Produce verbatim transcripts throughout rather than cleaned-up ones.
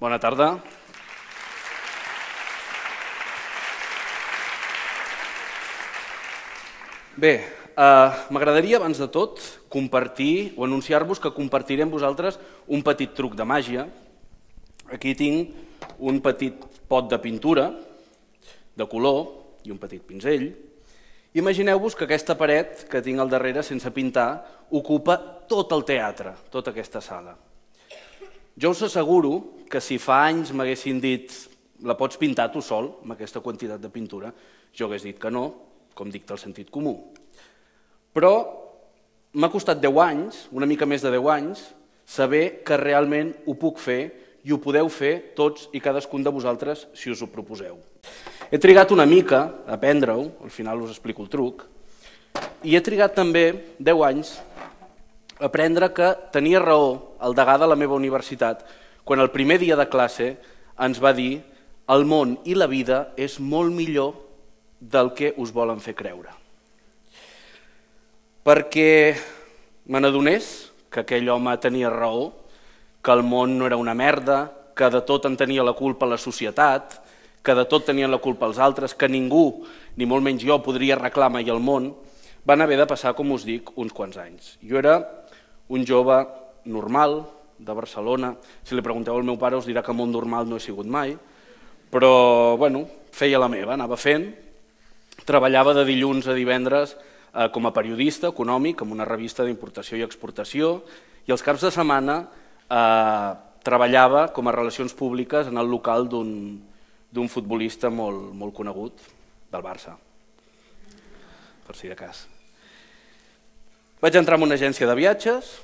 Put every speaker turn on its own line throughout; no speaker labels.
Bona tarda. Bé, m'agradaria abans de tot compartir o anunciar-vos que compartiré amb vosaltres un petit truc de màgia. Aquí tinc un petit pot de pintura de color i un petit pinzell. Imagineu-vos que aquesta paret que tinc al darrere sense pintar ocupa tot el teatre, tota aquesta sala. Jo us asseguro que si fa anys m'haguessin dit la pots pintar tu sol amb aquesta quantitat de pintura, jo hagués dit que no, com dicta el sentit comú. Però m'ha costat deu anys, una mica més de deu anys, saber que realment ho puc fer i ho podeu fer tots i cadascun de vosaltres si us ho proposeu. He trigat una mica a aprendre-ho, al final us explico el truc, i he trigat també deu anys a aprendre que tenia raó el degà de la meva universitat quan el primer dia de classe ens va dir el món i la vida és molt millor del que us volen fer creure. Perquè me n'adonés que aquell home tenia raó, que el món no era una merda, que de tot en tenia la culpa la societat, que de tot tenien la culpa els altres, que ningú, ni molt menys jo, podria arreglar mai el món, van haver de passar, com us dic, uns quants anys. Jo era un jove normal de Barcelona. Si li pregunteu al meu pare us dirà que molt normal no he sigut mai, però bueno, feia la meva, anava fent. Treballava de dilluns a divendres com a periodista econòmic en una revista d'importació i exportació i els caps de setmana treballava com a relacions públiques en el local d'un futbolista molt conegut, del Barça, per si de cas. Vaig entrar en una agència de viatges,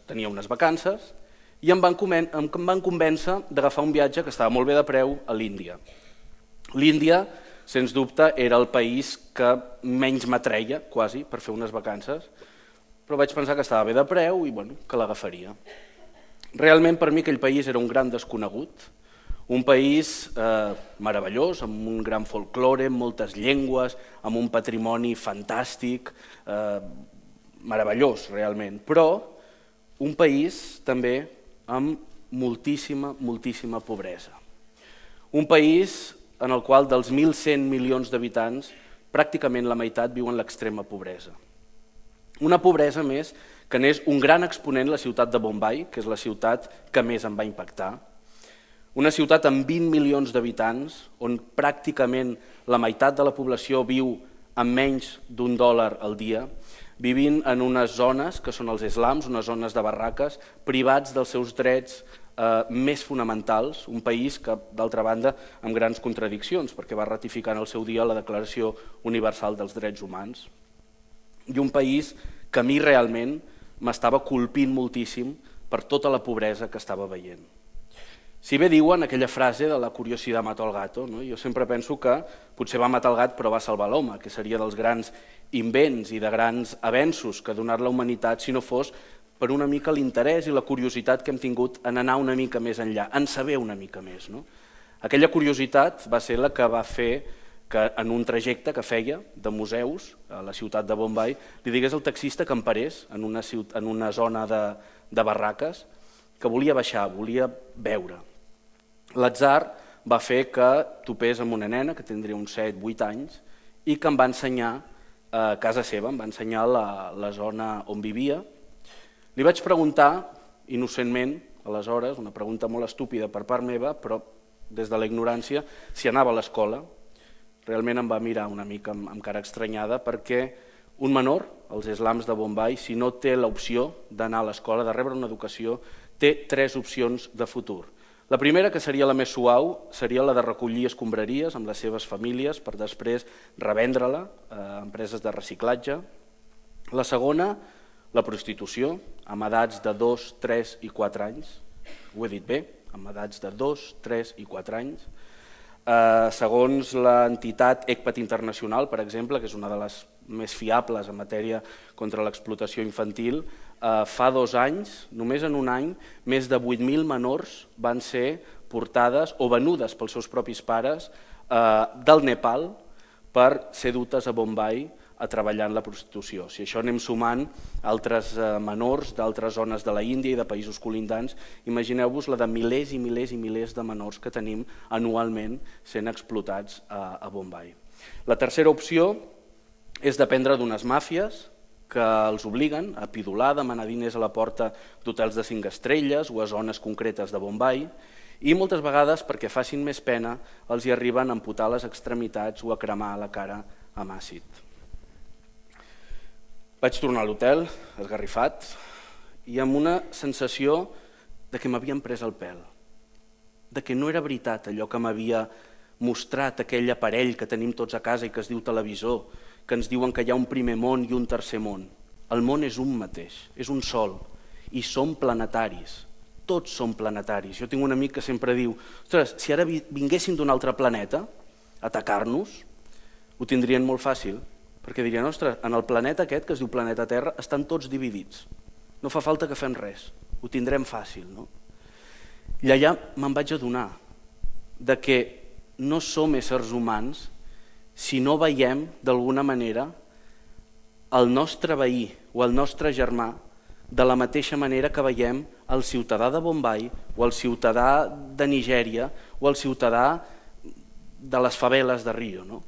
tenia unes vacances, i em van convèncer d'agafar un viatge que estava molt bé de preu a l'Índia. L'Índia, sens dubte, era el país que menys m'atreia, quasi, per fer unes vacances, però vaig pensar que estava bé de preu i que l'agafaria. Realment, per mi, aquell país era un gran desconegut, un país meravellós, amb un gran folklore, amb moltes llengües, amb un patrimoni fantàstic, meravellós, realment, però un país també amb moltíssima, moltíssima pobresa. Un país en el qual dels mil cent milions d'habitants pràcticament la meitat viu en l'extrema pobresa. Una pobresa més que n'és un gran exponent la ciutat de Bombai, que és la ciutat que més em va impactar. Una ciutat amb vint milions d'habitants, on pràcticament la meitat de la població viu amb menys d'un dòlar al dia, vivint en unes zones que són els slums, unes zones de barraques, privats dels seus drets més fonamentals, un país que, d'altra banda, amb grans contradiccions, perquè va ratificar en el seu dia la Declaració Universal dels Drets Humans, i un país que a mi realment m'estava colpint moltíssim per tota la pobresa que estava veient. Si bé diuen aquella frase de la curiositat mata el gato, jo sempre penso que potser va matar el gat però va salvar l'home, que seria dels grans invents i de grans avenços que ha donat la humanitat si no fos per una mica l'interès i la curiositat que hem tingut en anar una mica més enllà, en saber una mica més. Aquella curiositat va ser la que va fer que en un trajecte que feia de museus a la ciutat de Bombai li digués al taxista que em parés en una zona de barraques que volia baixar, volia veure. L'atzar va fer que topés amb una nena que tindria uns set vuit anys i que em va ensenyar a casa seva, em va ensenyar la zona on vivia. Li vaig preguntar, innocentment, aleshores, una pregunta molt estúpida per part meva, però des de la ignorància, si anava a l'escola. Realment em va mirar una mica amb cara estranyada perquè un menor, als slums de Bombai, si no té l'opció d'anar a l'escola, de rebre una educació, té tres opcions de futur. La primera, que seria la més suau, seria la de recollir escombraries amb les seves famílies per després revendre-la a empreses de reciclatge. La segona, la prostitució, amb edats de dos, tres i quatre anys. Ho he dit bé, amb edats de dos, tres i quatre anys. Segons l'entitat ECPAT Internacional, per exemple, que és una de les més fiables en matèria contra l'explotació infantil, fa dos anys, només en un any, més de vuit mil menors van ser portades o venudes pels seus propis pares del Nepal per ser dutes a Bombai a treballar en la prostitució. Si això anem sumant altres menors d'altres zones de la Índia i de països colindants, imagineu-vos la de milers i milers i milers de menors que tenim anualment sent explotats a Bombai. La tercera opció és dependre d'unes màfies que els obliguen a pidolar, demanar diners a la porta d'hotels de cinc estrelles o a zones concretes de Bombai, i moltes vegades, perquè facin més pena, els hi arriben a amputar les extremitats o a cremar la cara amb àcid. Vaig tornar a l'hotel, esgarrifat, i amb una sensació de que m'havien pres el pèl, de que no era veritat allò que m'havia mostrat aquell aparell que tenim tots a casa i que es diu televisor, que ens diuen que hi ha un primer món i un tercer món. El món és un mateix, és un sol, i som planetaris. Tots som planetaris. Jo tinc un amic que sempre diu, ostres, si ara vinguessin d'un altre planeta a atacar-nos, ho tindrien molt fàcil, perquè dirien, ostres, en el planeta aquest, que es diu planeta Terra, estan tots dividits. No fa falta que fem res, ho tindrem fàcil. I allà me'n vaig adonar de que no som éssers humans si no veiem, d'alguna manera, el nostre veí o el nostre germà de la mateixa manera que veiem el ciutadà de Bombai o el ciutadà de Nigèria o el ciutadà de les faveles de Rio.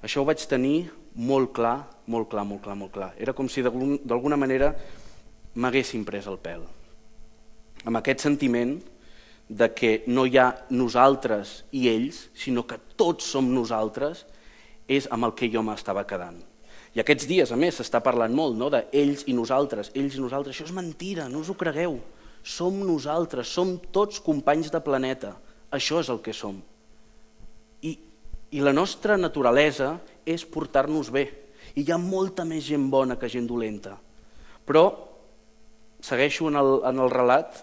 Això ho vaig tenir molt clar, molt clar, molt clar, molt clar. Era com si d'alguna manera m'haguessin pres el pèl. Amb aquest sentiment de que no hi ha nosaltres i ells, sinó que tots som nosaltres, és amb el que jo m'estava quedant. I aquests dies, a més, s'està parlant molt d'ells i nosaltres, ells i nosaltres. Això és mentira, no us ho cregueu. Som nosaltres, som tots companys de planeta. Això és el que som. I la nostra naturalesa és portar-nos bé. I hi ha molta més gent bona que gent dolenta. Però segueixo en el relat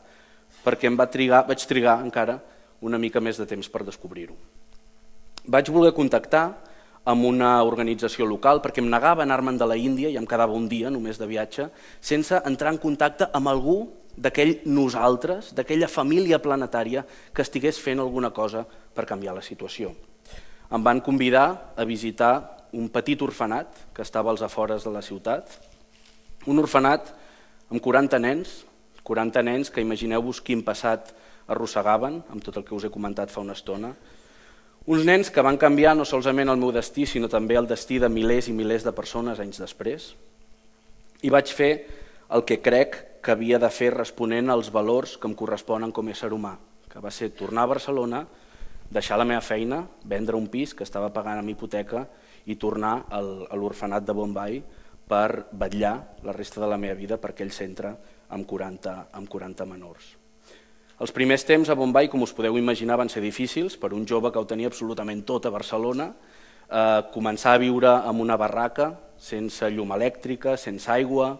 perquè em vaig trigar encara una mica més de temps per descobrir-ho. Vaig voler contactar amb una organització local perquè em negava a anar-me'n de la Índia i em quedava un dia només de viatge sense entrar en contacte amb algú d'aquell nosaltres, d'aquella família planetària que estigués fent alguna cosa per canviar la situació. Em van convidar a visitar un petit orfenat que estava als afores de la ciutat, un orfenat amb quaranta nens, quaranta nens que imagineu-vos quin passat arrossegaven, amb tot el que us he comentat fa una estona, uns nens que van canviar no solament el meu destí, sinó també el destí de milers i milers de persones anys després, i vaig fer el que crec que havia de fer responent als valors que em corresponen com a ésser humà, que va ser tornar a Barcelona, deixar la meva feina, vendre un pis que estava pagant amb hipoteca i tornar a l'orfenat de Bombai per vetllar la resta de la meva vida per aquell centre amb quaranta menors. Els primers temps a Bombai, com us podeu imaginar, van ser difícils per un jove que ho tenia absolutament tot a Barcelona, començar a viure en una barraca, sense llum elèctrica, sense aigua,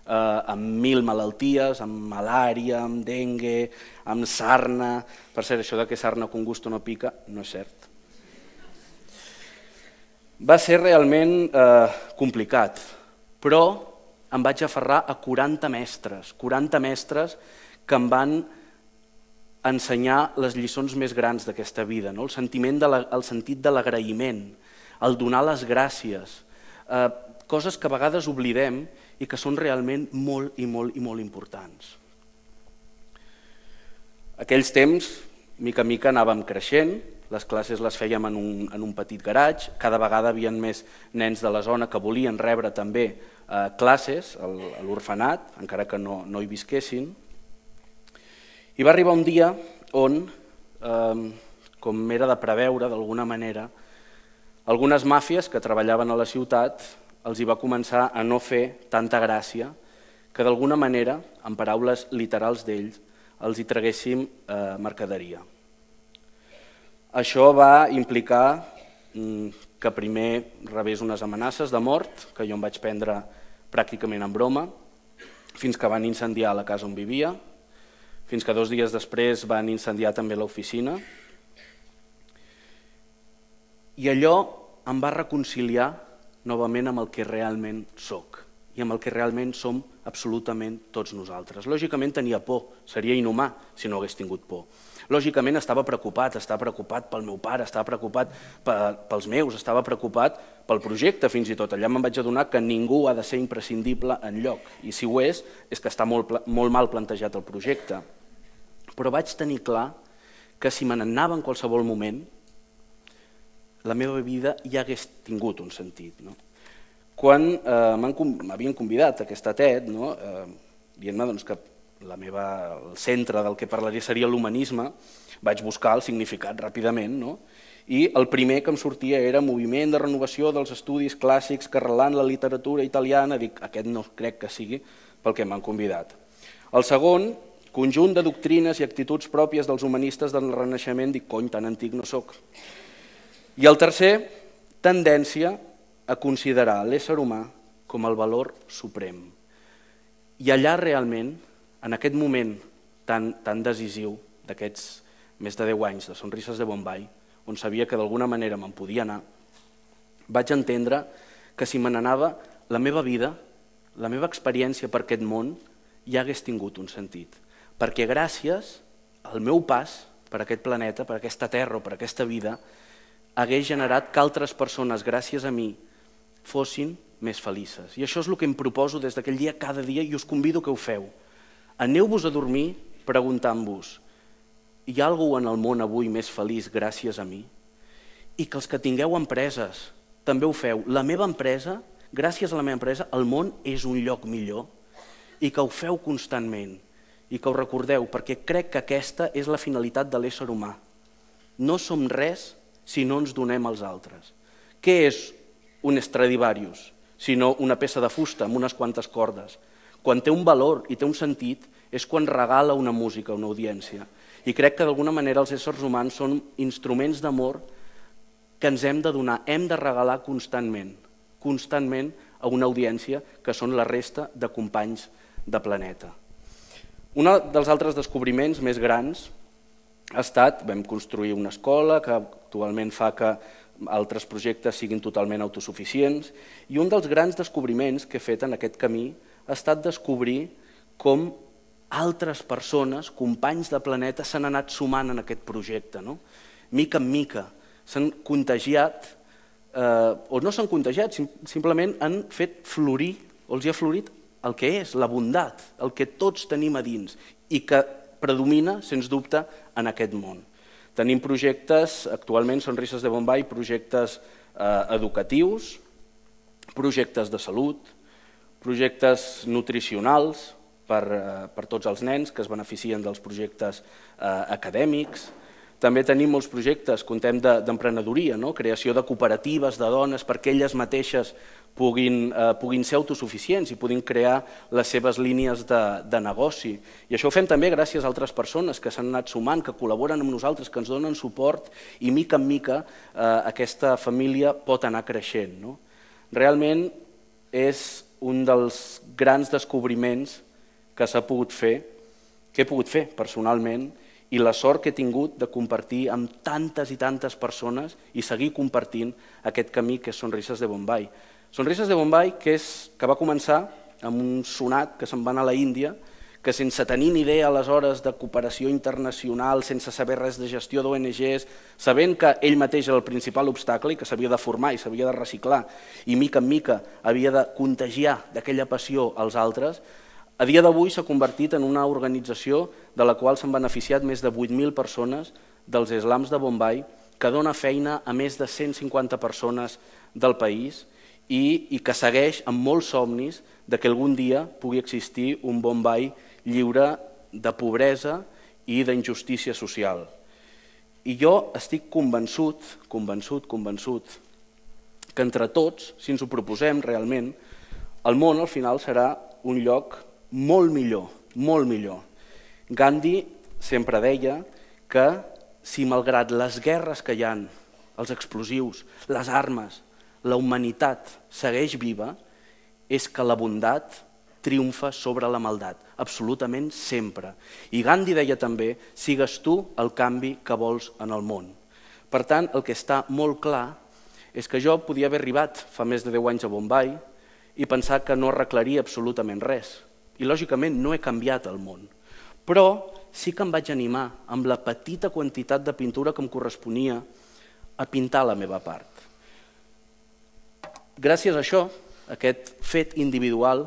amb mil malalties, amb malària, amb dengue, amb sarna. Per cert, això que sarna con gusto no pica no és cert. Va ser realment complicat, però em vaig aferrar a quaranta mestres, quaranta mestres que em van ensenyar les lliçons més grans d'aquesta vida, el sentit de l'agraïment, el donar les gràcies, coses que a vegades oblidem i que són realment molt i molt i molt importants. Aquells temps, mica a mica, anàvem creixent, les classes les fèiem en un petit garatge, cada vegada hi havia més nens de la zona que volien rebre també classes a l'orfenat, encara que no hi visquessin. I va arribar un dia on, com era de preveure d'alguna manera, algunes màfies que treballaven a la ciutat els hi va començar a no fer tanta gràcia que d'alguna manera, en paraules literals d'ells, els hi traguéssim mercaderia. Això va implicar que primer rebés unes amenaces de mort, que jo em vaig prendre pràcticament en broma, fins que van incendiar la casa on vivia, fins que dos dies després van incendiar també l'oficina. I allò em va reconciliar novament amb el que realment soc. i amb el que realment som absolutament tots nosaltres. Lògicament tenia por, seria inhumà si no hagués tingut por. Lògicament estava preocupat, estava preocupat pel meu pare, estava preocupat pels meus, estava preocupat pel projecte fins i tot. Allà me'n vaig adonar que ningú ha de ser imprescindible enlloc, i si ho és, és que està molt mal plantejat el projecte. Però vaig tenir clar que si me n'anava en qualsevol moment, la meva vida ja hagués tingut un sentit. Quan m'havien convidat a aquesta TED, dient-me que el centre del que parlaria seria l'humanisme, vaig buscar el significat ràpidament, i el primer que em sortia era Moviment de renovació dels estudis clàssics que arrelant la literatura italiana. Dic, aquest no crec que sigui pel que m'han convidat. El segon, conjunt de doctrines i actituds pròpies dels humanistes del Renaixement. Dic, cony, tan antic no soc. I el tercer, tendència a considerar l'ésser humà com el valor suprem. I allà realment, en aquest moment tan decisiu d'aquests més de deu anys de Sonrises de Bombay, on sabia que d'alguna manera me'n podia anar, vaig entendre que si me n'anava, la meva vida, la meva experiència per aquest món ja hagués tingut un sentit. Perquè gràcies al meu pas per aquest planeta, per aquesta terra o per aquesta vida, hagués generat que altres persones, gràcies a mi, fossin més felices. I això és el que em proposo des d'aquell dia cada dia i us convido que ho feu. Aneu-vos a dormir preguntant-vos: hi ha algú en el món avui més feliç gràcies a mi? I que els que tingueu empreses també ho feu. La meva empresa, gràcies a la meva empresa, el món és un lloc millor, i que ho feu constantment i que ho recordeu, perquè crec que aquesta és la finalitat de l'ésser humà. No som res si no ens donem als altres. Què és un Stradivarius, sinó una peça de fusta amb unes quantes cordes? Quan té un valor i té un sentit és quan regala una música a una audiència. I crec que d'alguna manera els éssers humans són instruments d'amor que ens hem de donar, hem de regalar constantment, constantment a una audiència que són la resta de companys de planeta. Un dels altres descobriments més grans ha estat, vam construir una escola que actualment fa que altres projectes siguin totalment autosuficients, i un dels grans descobriments que he fet en aquest camí ha estat descobrir com altres persones, companys de planeta, s'han anat sumant en aquest projecte. Mica en mica s'han contagiat, o no s'han contagiat, simplement han fet florir, o els ha florit el que és, la bondat, el que tots tenim a dins i que predomina, sens dubte, en aquest món. Tenim projectes, actualment Sonrises de Bombay, projectes educatius, projectes de salut, projectes nutricionals per tots els nens que es beneficien dels projectes acadèmics. També tenim molts projectes, contem d'emprenedoria, creació de cooperatives de dones perquè elles mateixes puguin ser autosuficients i puguin crear les seves línies de negoci. I això ho fem també gràcies a altres persones que s'han anat sumant, que col·laboren amb nosaltres, que ens donen suport, i mica en mica aquesta família pot anar creixent. Realment és un dels grans descobriments que s'ha pogut fer, que he pogut fer personalment, i la sort que he tingut de compartir amb tantes i tantes persones i seguir compartint aquest camí que és Sonrises de Bombay. Sonrises de Bombay, que va començar amb un sonat que se'n va anar a la Índia, que sense tenir ni idea aleshores de cooperació internacional, sense saber res de gestió d'O N Ges, sabent que ell mateix era el principal obstacle i que s'havia de formar i s'havia de reciclar i mica en mica havia de contagiar d'aquella passió als altres, a dia d'avui s'ha convertit en una organització de la qual s'han beneficiat més de vuit mil persones dels slams de Bombay, que dona feina a més de cent cinquanta persones del país i que segueix amb molts somnis que algun dia pugui existir un Bombay lliure de pobresa i d'injustícia social. I jo estic convençut, convençut, convençut, que entre tots, si ens ho proposem realment, el món al final serà un lloc molt millor, molt millor. Gandhi sempre deia que si malgrat les guerres que hi ha, els explosius, les armes, la humanitat segueix viva, és que la bondat triomfa sobre la maldat, absolutament sempre. I Gandhi deia també, sigues tu el canvi que vols en el món. Per tant, el que està molt clar és que jo podia haver arribat fa més de deu anys a Bombay i pensar que no arreglaria absolutament res. I lògicament no he canviat el món. Però sí que em vaig animar, amb la petita quantitat de pintura que em corresponia, a pintar la meva part. Gràcies a això, aquest fet individual,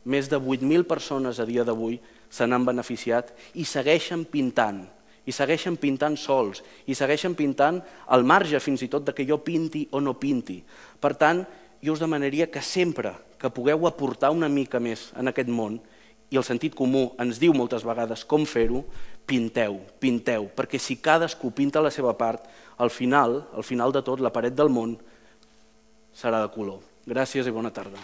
més de vuit mil persones a dia d'avui se n'han beneficiat i segueixen pintant, i segueixen pintant sols, i segueixen pintant al marge fins i tot de que jo pinti o no pinti. Per tant, jo us demanaria que sempre que pugueu aportar una mica més en aquest món, i el sentit comú ens diu moltes vegades com fer-ho, pinteu, pinteu, perquè si cadascú pinta la seva part, al final, al final de tot, la paret del món serà de color. Gràcies i bona tarda.